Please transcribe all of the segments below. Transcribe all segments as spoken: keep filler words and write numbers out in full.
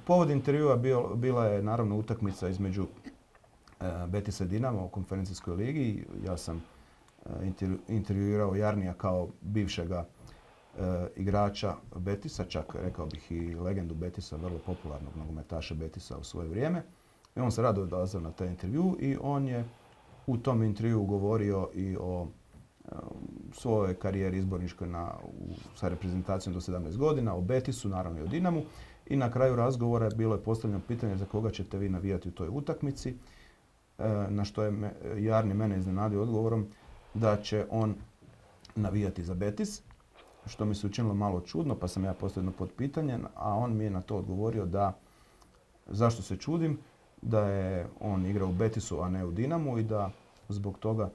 povod intervjua bio, bila je naravno utakmica između uh, Betisa i Dinama u konferencijskoj ligi. Ja sam uh, intervju, intervjuirao Jarnija kao bivšega uh, igrača Betisa, čak rekao bih i legendu Betisa, vrlo popularnog nogometaša Betisa u svoje vrijeme. I on se rado odazvao na taj intervju i on je u tom intervjuu govorio i o svojoj karijeri izborničkoj na, u, sa reprezentacijom do sedamnaest godina, o Betisu, naravno i o Dinamu. I na kraju razgovora bilo je postavljeno pitanje za koga ćete vi navijati u toj utakmici, e, na što je me, Jarni mene iznenadio odgovorom da će on navijati za Betis, što mi se učinilo malo čudno, pa sam ja postavio pod pitanje, a on mi je na to odgovorio da zašto se čudim, da je on igrao u Betisu, a ne u Dinamu i da zbog toga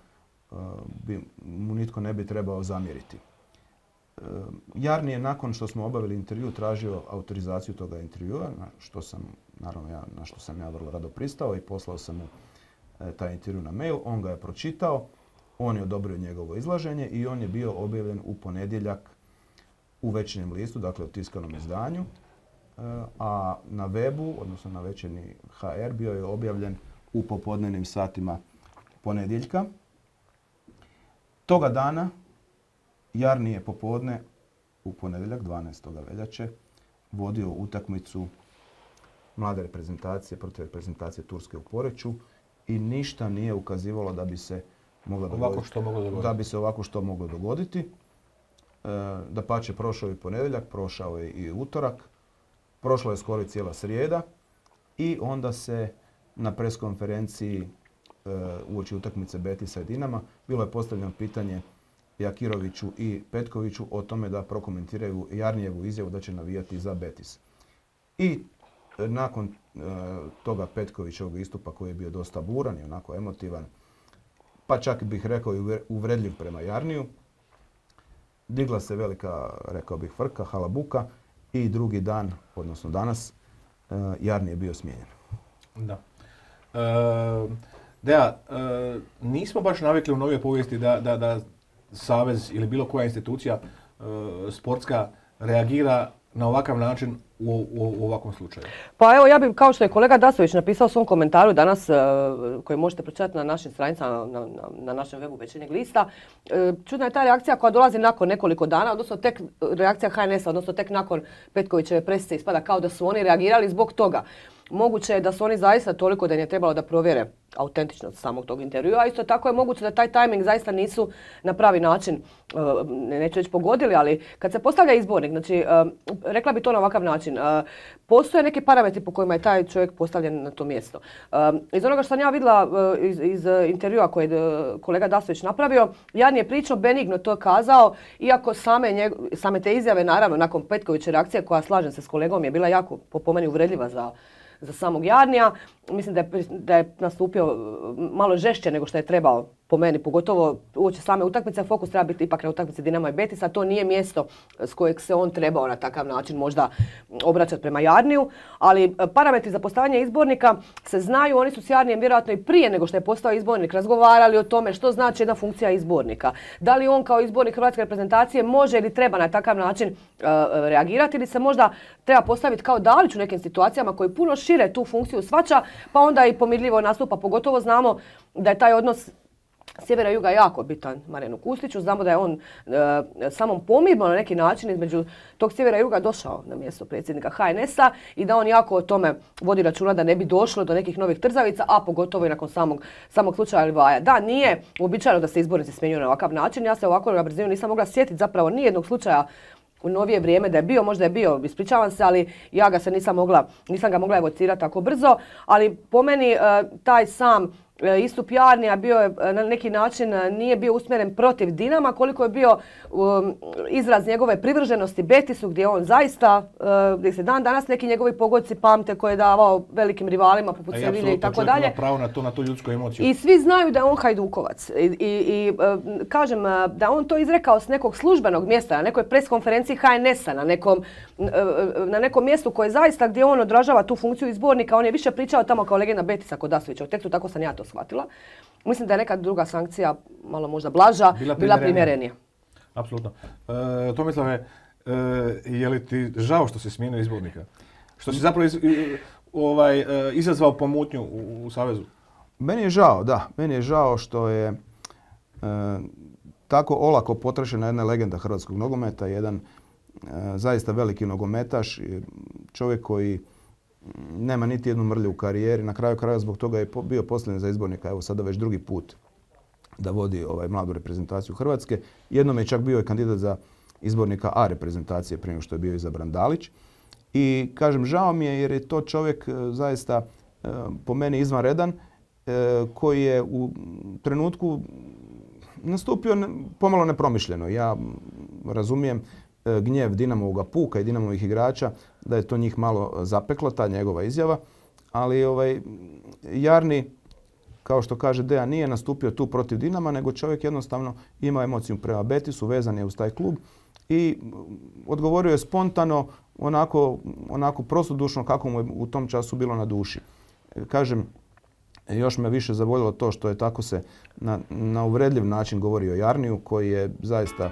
bi, mu nitko ne bi trebao zamjeriti. Jarni je nakon što smo obavili intervju tražio autorizaciju toga intervjua, na što sam, naravno ja, na što sam ja vrlo rado pristao i poslao sam mu taj intervju na mail. On ga je pročitao, on je odobrio njegovo izlaženje i on je bio objavljen u ponedjeljak u Večernjem listu, dakle u tiskanom izdanju, a na webu, odnosno na Večernji ha er, bio je objavljen u popodnevnim satima ponedjeljka. Toga dana Jarni je popodne u ponedjeljak dvanaestog veljače vodio utakmicu mlade reprezentacije protiv reprezentacije Turske u Poreču i ništa nije ukazivalo da bi se moglo dogoditi, što moglo dogoditi. Da bi se ovako što moglo dogoditi. E, dapače, prošao je ponedjeljak, prošao je i utorak, prošla je skoro i cijela srijeda i onda se na preskonferenciji uoči utakmice Betisa i Dinama bilo je postavljeno pitanje Jakiroviću i Petkoviću o tome da prokomentiraju Jarnijevu izjavu da će navijati za Betis. I nakon e, toga Petkovićevog istupa koji je bio dosta buran i onako emotivan, pa čak bih rekao i uvredljiv prema Jarniju, digla se velika, rekao bih, frka, halabuka i drugi dan, odnosno danas, e, Jarni je bio smijenjen. Da. E... Da, e, nismo baš navikli u novoj povijesti da, da, da savez ili bilo koja institucija e, sportska reagira na ovakav način u, u, u ovakvom slučaju. Pa evo, ja bih, kao što je kolega Dasović napisao u svom komentaru danas, e, koji možete pročitati na našim stranicama, na, na, na našem webu Večernjeg lista, e, čudna je ta reakcija koja dolazi nakon nekoliko dana, odnosno tek reakcija ha en es a, odnosno tek nakon Petkovićeve presice ispada kao da su oni reagirali zbog toga. Moguće je da su oni zaista toliko da im je trebalo da provjere autentičnost samog tog intervjua. Isto tako je moguće da taj tajming zaista nisu na pravi način, neću reći pogodili, ali kad se postavlja izbornik, znači rekla bi to na ovakav način, postoje neki parametri po kojima je taj čovjek postavljen na to mjesto. Iz onoga što sam ja vidjela iz, iz intervjua koje je kolega Dasović napravio, Jarni je prilično benigno to kazao, iako same, njeg, same te izjave, naravno, nakon Petkoviće reakcije, koja, slažem se s kolegom, je bila jako po meni uvredljiva za za samog Jarnija. Mislim da je, da je nastupio malo žešće nego što je trebao, po meni, pogotovo uoči same utakmice. Fokus treba biti ipak na utakmici Dinama i Betisa. To nije mjesto s kojeg se on trebao na takav način možda obraćati prema Jarniju. Ali parametri za postavljanje izbornika se znaju. Oni su s Jarnijem vjerojatno i prije nego što je postao izbornik razgovarali o tome što znači jedna funkcija izbornika. Da li on kao izbornik hrvatske reprezentacije može ili treba na takav način uh, reagirati ili se možda treba postaviti kao Dalić u nekim situacijama koji puno šire tu funkciju shvaća, pa onda i pomirljivo nastupa. Pogotovo znamo da je taj odnos sjevera i juga jako bitan Marijanu Kustiću. Znamo da je on e, samom pomirbom na neki način između tog sjevera i juga došao na mjesto predsjednika ha en es a i da on jako o tome vodi računa da ne bi došlo do nekih novih trzavica, a pogotovo i nakon samog, samog slučaja Livaja. Da, nije uobičajeno da se izbornici smjenjuju na ovakav način. Ja se ovako na brzinu nisam mogla sjetiti zapravo nijednog slučaja u novije vrijeme da je bio, možda je bio, ispričavam se, ali ja ga se nisam mogla, nisam ga mogla evocirati tako brzo, ali po meni taj sam istup Jarnija bio je na neki način, nije bio usmjeren protiv Dinama, koliko je bio um, izraz njegove privrženosti Betisu, gdje on zaista, uh, gdje se dan danas neki njegovi pogodci pamte koje je davao velikim rivalima poput Sevilje i tako dalje. Pravo na to, na tu ljudsku emociju. I svi znaju da je on Hajdukovac. I, i, i uh, kažem da on to izrekao s nekog službenog mjesta, na nekoj preskonferenciji ha en es a, na nekom, uh, na nekom mjestu koje zaista gdje on odražava tu funkciju izbornika. On je više pričao tamo kao legenda Betisa kod Dasovića u tekstu, tako sam ja to shvatila. Mislim da je neka druga sankcija, malo možda blaža, bila, bila primjerenija. Apsolutno. E, Tomislave, e, je li ti žao što si smijenio izbornika? Što si zapravo iz, ovaj, izazvao pomutnju u, u Savezu? Meni je žao, da. Meni je žao što je e, tako olako potrošena jedna legenda hrvatskog nogometa, jedan e, zaista veliki nogometaš, čovjek koji nema niti jednu mrlju u karijeri. Na kraju kraja zbog toga je bio postavljen za izbornika, evo sada već drugi put da vodi ovaj mladu reprezentaciju Hrvatske. Jednom je čak bio i kandidat za izbornika A reprezentacije prije nego što je bio izabran Dalić. I kažem, žao mi je jer je to čovjek zaista po meni izvanredan, koji je u trenutku nastupio pomalo nepromišljeno. Ja razumijem gnjev Dinamovoga puka i Dinamovih igrača da je to njih malo zapeklo, ta njegova izjava. Ali ovaj, Jarni, kao što kaže Dejan, nije nastupio tu protiv Dinama, nego čovjek jednostavno ima emociju prema Betisu, vezan je uz taj klub i odgovorio je spontano, onako, onako prostodušno kako mu je u tom času bilo na duši. Kažem, još me više zavoljelo to što je tako se na, na uvredljiv način govori o Jarniju, koji je zaista,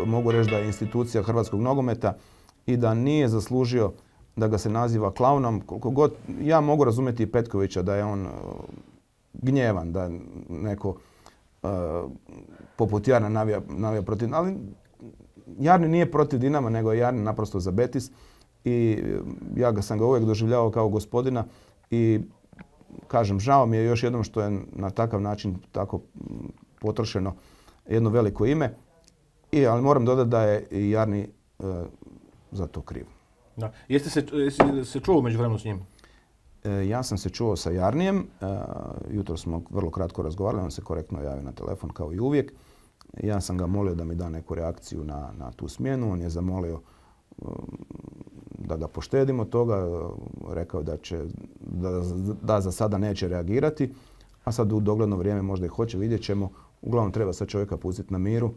mogu reći da je institucija hrvatskog nogometa i da nije zaslužio da ga se naziva klaunom. Koliko god, ja mogu razumjeti i Petkovića da je on gnjevan, da neko uh, poput Jarna navija, navija protiv, ali Jarni nije protiv Dinama, nego je Jarni naprosto za Betis i ja ga sam ga uvijek doživljavao kao gospodina i kažem, žao mi je još jednom što je na takav način tako potrošeno jedno veliko ime, I, ali moram dodati da je i Jarni uh, za to kriv. Da. Jeste se, jeste se čuo međuvremenu s njim? E, ja sam se čuo sa Jarnijem, e, jutro smo vrlo kratko razgovarali, on se korektno javio na telefon kao i uvijek. Ja sam ga molio da mi da neku reakciju na, na tu smjenu, on je zamolio um, da ga poštedimo toga, rekao da, će, da, da za sada neće reagirati, a sad u dogledno vrijeme možda i hoće, vidjet ćemo. Uglavnom treba sad čovjeka pustiti na miru.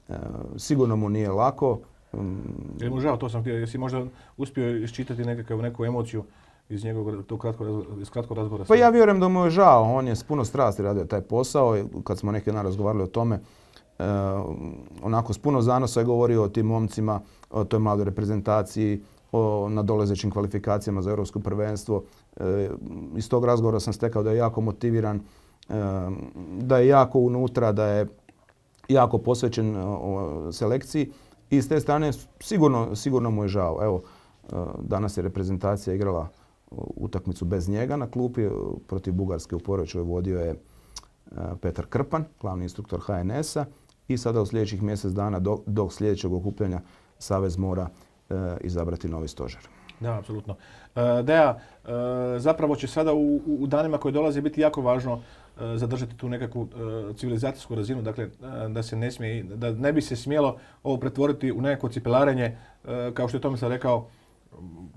E, sigurno mu nije lako. Um, Je mu žao, to sam htio, jesi možda uspio iščitati nekakav, neku emociju iz njegovog tog kratko, iz kratkog razgovora? Pa ja vjerujem da mu je žao, on je s puno strasti radio taj posao i kad smo neki dan razgovarali o tome, e, onako s puno zanosa je govorio o tim momcima, o toj mladoj reprezentaciji, o nadolazećim kvalifikacijama za europsko prvenstvo. E, iz tog razgovora sam stekao da je jako motiviran, e, da je jako unutra, da je jako posvećen o, selekciji i s te strane sigurno, sigurno mu je žao. Evo, e, danas je reprezentacija igrala utakmicu bez njega na klupi protiv Bugarske u Poreču vodio je Petar Krpan, glavni instruktor H N S-a i sada u sljedećih mjesec dana do, do sljedećeg okupljanja Savez mora e, izabrati novi stožer. Da, apsolutno. E, Deja, e, zapravo će sada u, u danima koji dolaze biti jako važno e, zadržati tu nekakvu e, civilizacijsku razinu, dakle e, da se ne smije, da ne bi se smjelo ovo pretvoriti u nekako cipelarenje, e, kao što je Tomislav rekao,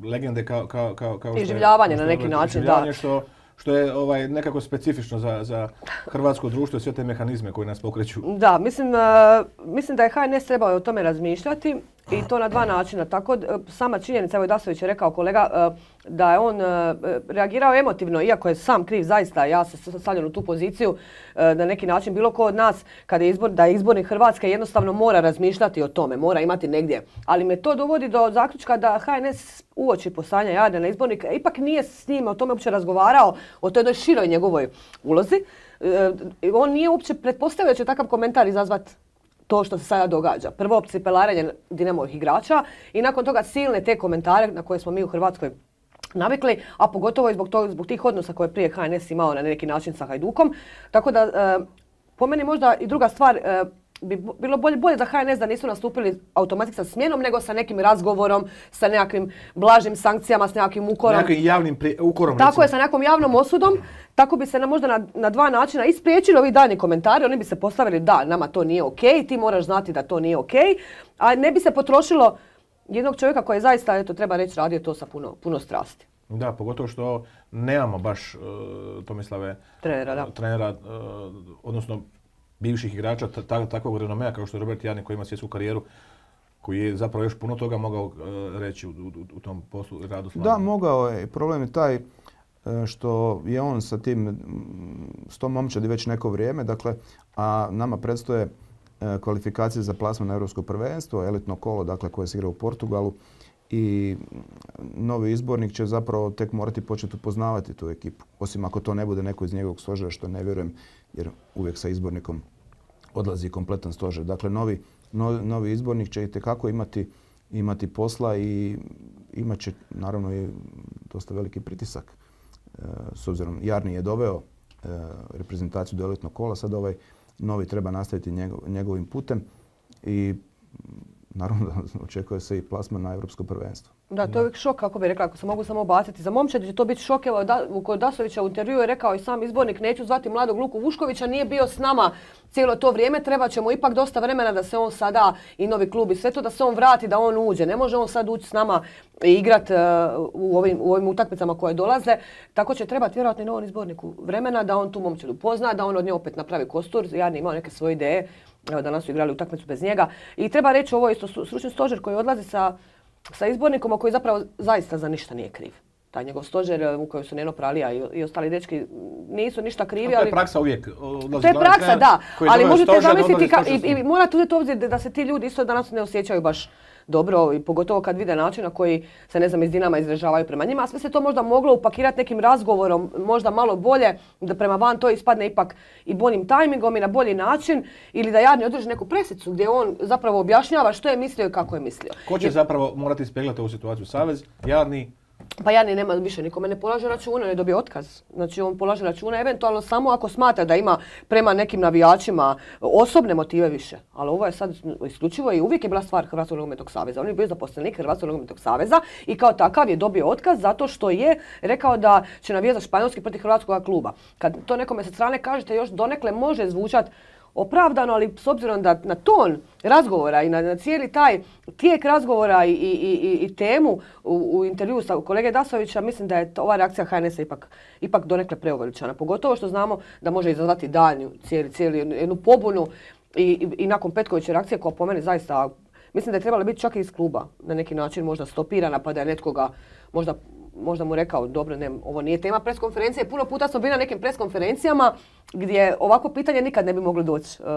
legende kao, kao, kao, kao iživljavanje na neki način, da. Što, što je ovaj, nekako specifično za, za hrvatsko društvo i sve te mehanizme koji nas pokreću. Da, mislim, uh, mislim da je H N S trebao o tome razmišljati i to na dva načina. Tako, sama činjenica, evo Dasović je rekao kolega, uh, da je on uh, reagirao emotivno, iako je sam kriv zaista, ja se stavljam u tu poziciju, uh, na neki način bilo ko od nas, kada je izbor, da je izbornik Hrvatske, jednostavno mora razmišljati o tome, mora imati negdje. Ali me to dovodi do zaključka da H N S uoči poslanja Jarnija izbornika ipak nije s njim o tome uopće razgovarao, o toj jednoj široj njegovoj ulozi. E, on nije uopće pretpostavio da će takav komentar izazvati to što se sada događa. Prvo, cipelarenje Dinamovih igrača i nakon toga silne te komentare na koje smo mi u Hrvatskoj navikli, a pogotovo i zbog, to, zbog tih odnosa koje je prije H N S imao na neki način sa Hajdukom. Tako da, e, po meni možda i druga stvar, e, bi bilo bolje, bolje za H N S da nisu nastupili automatski sa smjenom, nego sa nekim razgovorom, sa nekakvim blažim sankcijama, s nekakvim ukorom. Nekakvim javnim pri, ukorom. Tako recimo. je, sa nekom javnom osudom. Tako bi se na, možda na, na dva načina ispriječili ovi daljnji komentari. Oni bi se postavili da, nama to nije okej, ti moraš znati da to nije okej. A ne bi se potrošilo jednog čovjeka koji je zaista, eto, treba reći, radio to sa puno, puno strasti. Da, pogotovo što nemamo baš uh, Tomislave trenera, da. Uh, trenera uh, odnosno bivših igrača ta, takvog renomea kao što je Robert Jarni koji ima svjetsku karijeru, koji je zapravo još puno toga mogao uh, reći u, u, u tom poslu i radu Slavije. Da, mogao je. Problem je taj što je on sa tim, s tom momčadi već neko vrijeme, dakle, a nama predstoje kvalifikacije za plasman na europsko prvenstvo, elitno kolo, dakle, koje se igra u Portugalu i novi izbornik će zapravo tek morati početi upoznavati tu ekipu. Osim ako to ne bude neko iz njegovog stožera, što ne vjerujem, jer uvijek sa izbornikom odlazi kompletan stožer. Dakle, novi, novi, novi izbornik će itekako imati, imati posla i imat će naravno i dosta veliki pritisak. E, s obzirom, Jarni je doveo e, reprezentaciju do elitnog kola, sad ovaj novi treba nastaviti njegov, njegovim putem i naravno očekuje se i plasman na Europsko prvenstvo. Da, to je uvijek šok, kako bi rekla, ako se mogu samo baciti. Za momčad će to biti šok. Evo, da, kod Dasovića u intervjuu je rekao i sam izbornik, neću zvati mladog Luku Vuškovića, nije bio s nama cijelo to vrijeme, treba će mu ipak dosta vremena da se on sada i novi klub i sve to, da se on vrati, da on uđe. Ne može on sad ući s nama i igrati uh, u, ovim, u ovim utakmicama koje dolaze. Tako će trebati vjerojatno i novom izborniku vremena da on tu momčad upozna, da on od nje opet napravi kostur. Jarni imao neke svoje ideje, evo danas su igrali utakmicu bez njega. I treba reći ovo isto stručni stožer koji odlazi sa sa izbornikom koji zapravo zaista za ništa nije kriv. Taj njegov stožer u kojem su Neno Pralija i, i ostali dečki nisu ništa krivi. To ali je praksa uvijek. To je praksa, da. Ali možete zamisliti ka, i, i morate uzeti obzir da se ti ljudi isto danas ne osjećaju baš dobro i pogotovo kad vide način na koji se, ne znam, iz Dinama izražavaju prema njima. A sve se to možda moglo upakirati nekim razgovorom, možda malo bolje, da prema van to ispadne ipak i boljim tajmingom i na bolji način, ili da Jarni održi neku presicu gdje on zapravo objašnjava što je mislio i kako je mislio. Ko će Jer... zapravo morati ispeglati ovu situaciju? Savez, Jarni? Pa Jarni nema više nikome ne polaže računa, ne dobije otkaz. Znači on polaže računa eventualno samo ako smatra da ima prema nekim navijačima osobne motive više. Ali ovo je sad isključivo i uvijek je bila stvar Hrvatskog nogometnog saveza. On je bio zaposlenik Hrvatskog nogometnog saveza i kao takav je dobio otkaz zato što je rekao da će navijati za Španjolski protiv hrvatskog kluba. Kad to nekome sa strane kažete još donekle može zvučati opravdano, ali s obzirom da na ton razgovora i na, na cijeli taj tijek razgovora i, i, i, i temu u, u intervjuu sa kolege Dasovića, mislim da je ova reakcija H N S-a ipak, ipak donekle preuveličana. Pogotovo što znamo da može izazvati daljnju cijeli, cijeli jednu pobunu i, i, i nakon Petkoviće reakcije koja po meni zaista, mislim da je trebala biti čak i iz kluba na neki način možda stopirana pa da je netkoga možda možda mu rekao, dobro, ne, ovo nije tema preskonferencije. Puno puta smo bili na nekim preskonferencijama gdje ovako pitanje nikad ne bi moglo doći uh,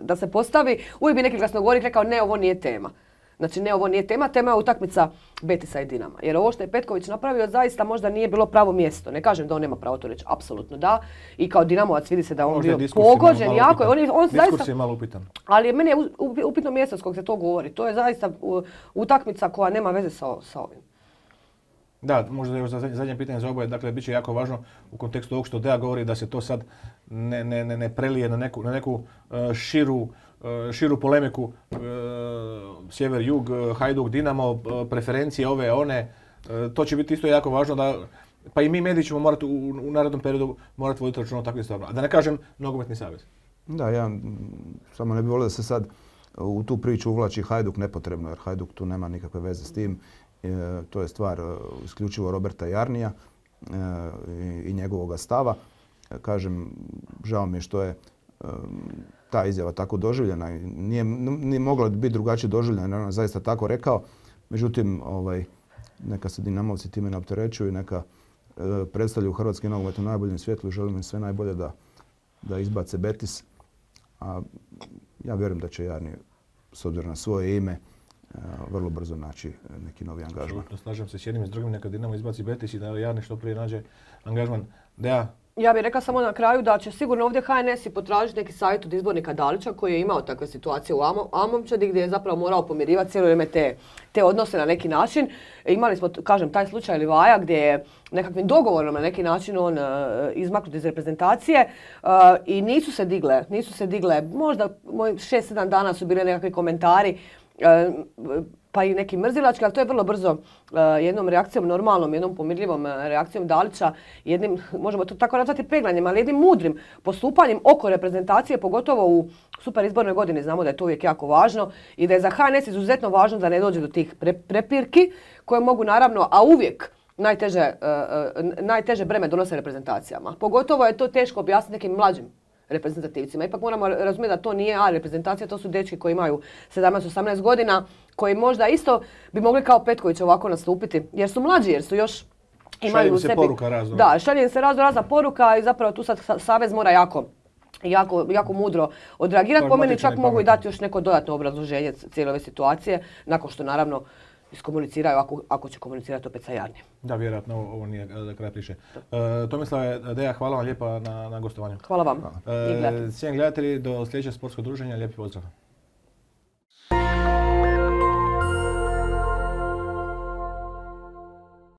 da se postavi. Uvijek bi neki glasnogovornik rekao, ne, ovo nije tema. Znači, ne, ovo nije tema, tema je utakmica Betisa i Dinama. Jer ovo što je Petković napravio zaista možda nije bilo pravo mjesto. Ne kažem da on nema pravo to reći, apsolutno da. I kao Dinamovac vidi se da on možda bio pogođen jako. On je, on diskurs zaista, je malo upitan. Ali meni je upitno mjesto s kog se to govori. To je zaista utakmica koja nema veze sa, sa ovim. Da, možda je za zadnje pitanje za oboje, dakle, bit će jako važno u kontekstu ovog što Deja govori da se to sad ne, ne, ne, ne prelije na neku, na neku uh, širu, uh, širu polemiku uh, sjever-jug, uh, Hajduk, Dinamo, uh, preferencije ove, one. Uh, to će biti isto jako važno da, pa i mi mediji ćemo morati u, u narednom periodu morati voditi računa o takvim stvarima. A da ne kažem nogometni savez. Da, ja samo ne bih volio da se sad u tu priču uvlači Hajduk nepotrebno, jer Hajduk tu nema nikakve veze s tim. E, to je stvar uh, isključivo Roberta Jarnija e, i, i njegovoga stava. E, kažem, žao mi je što je e, ta izjava tako doživljena. Nije, nije mogla biti drugačije doživljena, on je zaista tako rekao. Međutim, ovaj, neka se Dinamovci time ne opterećuju i neka e, predstavljaju hrvatski nogomet u najboljem svjetlu i želim im sve najbolje da, da izbace Betis. A ja vjerujem da će Jarni, s obzirom na svoje ime, vrlo brzo naći neki novi angažman. Slažem se s jednim i s drugim, neka Dinamo izbaci Betis i da Jarni što prije nađe angažman. Deja? Ja bih rekla samo na kraju da će sigurno ovdje H N S i potražiti neki savjet od izbornika Dalića koji je imao takve situacije u Amomčadi gdje je zapravo morao pomirivati cijelo vrijeme te, te odnose na neki način. Imali smo, kažem, taj slučaj Livaja gdje je nekakvim dogovorom na neki način on uh, izmaknut iz reprezentacije uh, i nisu se digle, nisu se digle, možda šest sedam dana su bile nekakvi komentari pa i neki mrzilački, ali to je vrlo brzo uh, jednom reakcijom normalnom, jednom pomirljivom uh, reakcijom Dalića, jednim, možemo to tako nazvati peglanjem, ali jednim mudrim postupanjem oko reprezentacije, pogotovo u super izbornoj godini. Znamo da je to uvijek jako važno i da je za H N S izuzetno važno da ne dođe do tih pre, prepirki koje mogu naravno, a uvijek najteže, uh, uh, najteže breme donose reprezentacijama. Pogotovo je to teško objasniti nekim mlađim reprezentativcima. Ipak moramo razumjeti da to nije A reprezentacija, to su dečki koji imaju sedamnaest osamnaest godina, koji možda isto bi mogli kao Petković ovako nastupiti, jer su mlađi, jer su još imaju u sebi... Šalje se poruka razno. Da, šalje se razno razna poruka i zapravo tu sad savez mora jako, jako, jako mudro odreagirati. Po meni čak mogu i dati još neko dodatno obrazloženje cijele ove situacije, nakon što naravno iskomuniciraju ako, ako će komunicirati opet sa Jarnijem. Da, vjerojatno ovo, ovo nije e, kraj priče. E, Tomislave, Deja, hvala vam lijepa na, na gostovanju. Hvala vam. E, Cijenjeni gledatelji, do sljedećeg sportskog druženja, lijepi pozdrav.